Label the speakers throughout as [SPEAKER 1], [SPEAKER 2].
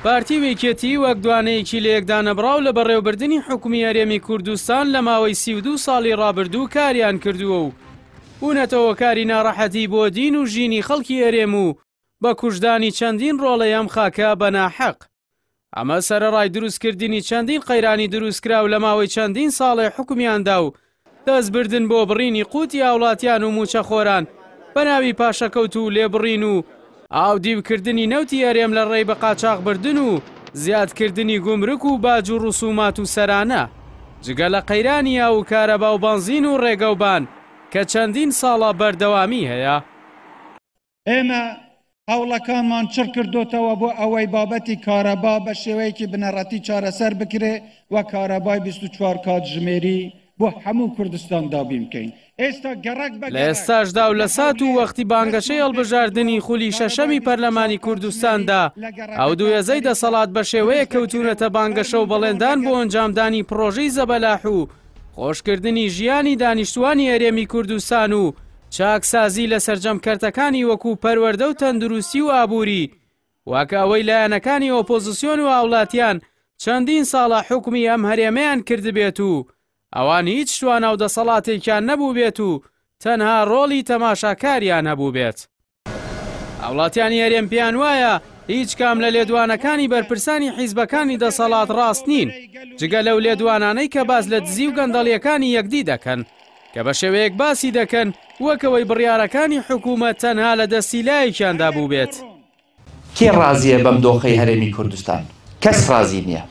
[SPEAKER 1] پارتی و یەکێتی وەک دوانەیەکی لەیەکدانەبڕاو لە بەڕێوەبردنی حکومی هەرێمی کوردستان لە ماوەی 32 ساڵی ڕابردوو کاریان کردووە و بوونەتە هۆکاری ناڕەحەتی بۆ دین و ژینی خەڵکی هەرێم و بە کوژدانی چەندین ڕۆڵەی ئەم خاکە بە ناحەق. ئەمە سەرەڕای دروستکردنی چەندین قەیرانی دروستکراو لە ماوەی چەندین ساڵێ حوکمیاندا و دەستبردن بۆ بڕینی قوتی هاوڵاتیان و مووچەخۆران بە ناوی پاشەکەوت و لێبڕین و ئاودیوکردنی نەوتی هەرێم لە ڕێی بەقاچاخبردن و زیادکردنی گومرک و باج و ڕسومات و سەرانە جگە لە قەیرانی ئاو و کارەبا و بەنزین و ڕێگەوبان کە چەندین ساڵە بەردەوامی هەیە.
[SPEAKER 2] ئێمە هەوڵەکانمان چڕ کردۆتەوە بۆ ئەوەی بابەتی کارەبا بە شێوەیەکی بنەڕەتی چارەسەر بکرێ و کارەبای 24 کاتژمێری بۆ هەموو کوردستان دابین بکەین. ئێستا گەڕەک بە
[SPEAKER 1] لە
[SPEAKER 2] گەڕەک
[SPEAKER 1] ئێستاشدا و
[SPEAKER 2] لە
[SPEAKER 1] لە سات و
[SPEAKER 2] هەولێر
[SPEAKER 1] وەختی بانگەشەی
[SPEAKER 2] دەستمان
[SPEAKER 1] هەڵبژاردنی
[SPEAKER 2] پێکردووە
[SPEAKER 1] خولی شەشەمی
[SPEAKER 2] کارەبای 24
[SPEAKER 1] پەرلەمانی
[SPEAKER 2] کاتژمێری
[SPEAKER 1] کوردستاندا
[SPEAKER 2] لە
[SPEAKER 1] ئەو دوو
[SPEAKER 2] گەڕەکەکان
[SPEAKER 1] هێزەی
[SPEAKER 2] خەریکە
[SPEAKER 1] دەسەڵات بە شێوەیەک
[SPEAKER 2] دروست دەکرێ
[SPEAKER 1] کەوتوونەتە
[SPEAKER 2] و
[SPEAKER 1] بانگەشە و
[SPEAKER 2] فەرموون بڕۆن لە
[SPEAKER 1] بەڵێندان بۆ
[SPEAKER 2] گەڕ
[SPEAKER 1] ئەنجامدانی پڕۆژەی زەبەلاح و خۆشکردنی ژیانی دانیشتووانی هەرێمی کوردستان و چاکسازی لە سەرجەم کەرتەکانی وەکو پەروەردە و تەندروستی و ئابووری، وەک ئەوەی لایەنەکانی ئۆپۆزسیۆن و هاوڵاتیان چەندین ساڵە حوکمی ئەم هەرێمەیان کردبێت و ئەوان هیچ توانا و دەسەڵاتێکیان نەبووبێت و تەنها ڕۆڵی تەماشاکاریان هەبووبێت. هاوڵاتیانی هەرێم پێیان وایە هیچ کام لە لێدوانەکانی بەرپرسانی حیزبەکانی دەسەڵات ڕاست نین، جگە لەو لێدوانانەی کە باس لە دزی و گەندەڵیەکانی یەکدی دەکەن، کە بە شێوەیەک باسی دەکەن وەک ئەوەی بڕیارەکانی حکومەت تەنها لە دەستی لایەکیاندا بووبێت.
[SPEAKER 3] کێ ڕازیە بەم دۆخەی هەرێمی کوردستان؟ کەس ڕازی نییە.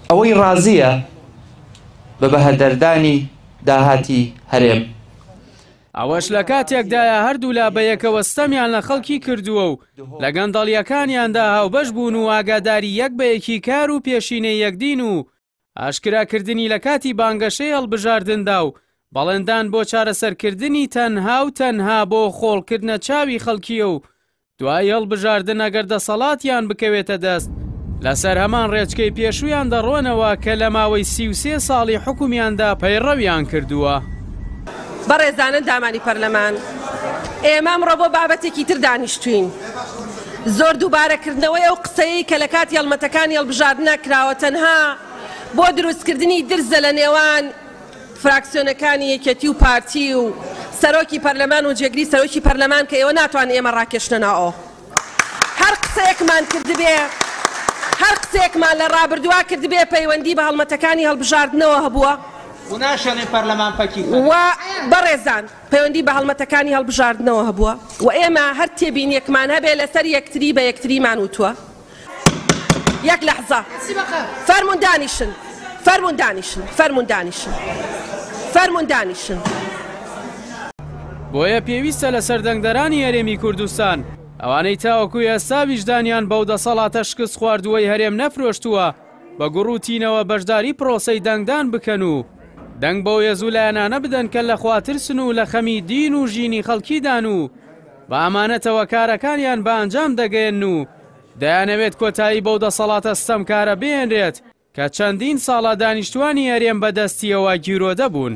[SPEAKER 3] ئەوەی ڕازیە بە بەهەدەردانی داهاتی هەرێم.
[SPEAKER 1] ئەوەش لە کاتێکدایە هەردوولا بەیەکەوە ستەمیان لە خەڵکی کردووە و لە گەندەڵییەکانیاندا هاوبەش بوون و ئاگاداری یەک بە یەکی کار و پێشینەی یەکدین و ئاشکراکردنی لە کاتی بانگەشەی هەڵبژاردندا و بەڵێندان بۆ چارەسەرکردنی تەنها و تەنها بۆ خۆڵکردنە چاوی خەڵکییە و دوای هەڵبژاردن ئەگەر دەسەڵاتیان بکەوێتە دەست، لەسەر هەمان ڕێچکەی پێشوویان دەڕۆنەوە کە لە ماوەی 33 ساڵی حوکمیاندا پەیڕەویان کردووە.
[SPEAKER 4] بەڕێزان ئەندامانی پەرلەمان، ئێمە ئەمڕۆ بۆ بابەتێکی تر دانیشتووین. زۆر دووبارەکردنەوەی ئەو قسەیەی کە لە کاتی هەڵمەتەکانی هەڵبژاردنا کراوە تەنها بۆ دروستکردنی درزە لە نێوان فراکسیۆنەکانی یەکێتی و پارتی و سەرۆکی پەرلەمان و جێگری سەرۆکی پەرلەمان کە ئێوە ناتوان ئێمە ڕاکێشنە ناو ئەو هەر قسەیەکمان کردبێ هەر قسەیەکمان لە ڕابردووا کردبێ پەیوەندی بە هەڵمەتەکانی هەڵبژاردنەوە هەبووە و بەڕێزان پەیوەندی بە هەڵمەتەکانی هەڵبژاردنەوە هەبووە و ئێمە هەر تێبینیەکمان هەبێ لەسەر یەکتری بە یەکتریمان وتووە. یەک لەحزە فەرموون دانیشن فەرموون دانیشن فەرموون دانیشن فەرموون دانیشن.
[SPEAKER 1] بۆیە پێویستە لەسەر دەنگدەرانی هەرێمی کوردستان، ئەوانەی تاوەکو ئێستا ویژدانیان بەو دەسەڵاتە شکستخواردووەی هەرێم نەفرۆشتووە، بە گوڕ و تینەوە بەشداری پرۆسەی دەنگدان بکەن و دەنگ بەو هێز و لایەنانە بدەن کە لە خواترسن و لە خەمی دین و ژینی خەڵکیدان و بە ئامانەتەوە کارەکانیان بە ئەنجام دەگەیەنن و دەیانەوێت کۆتایی بەو دەسەڵاتە ستەمکارە بهێنرێت کە چەندین ساڵە دانیشتوانی هەرێم بە دەستیەوە گیرۆدە بوون.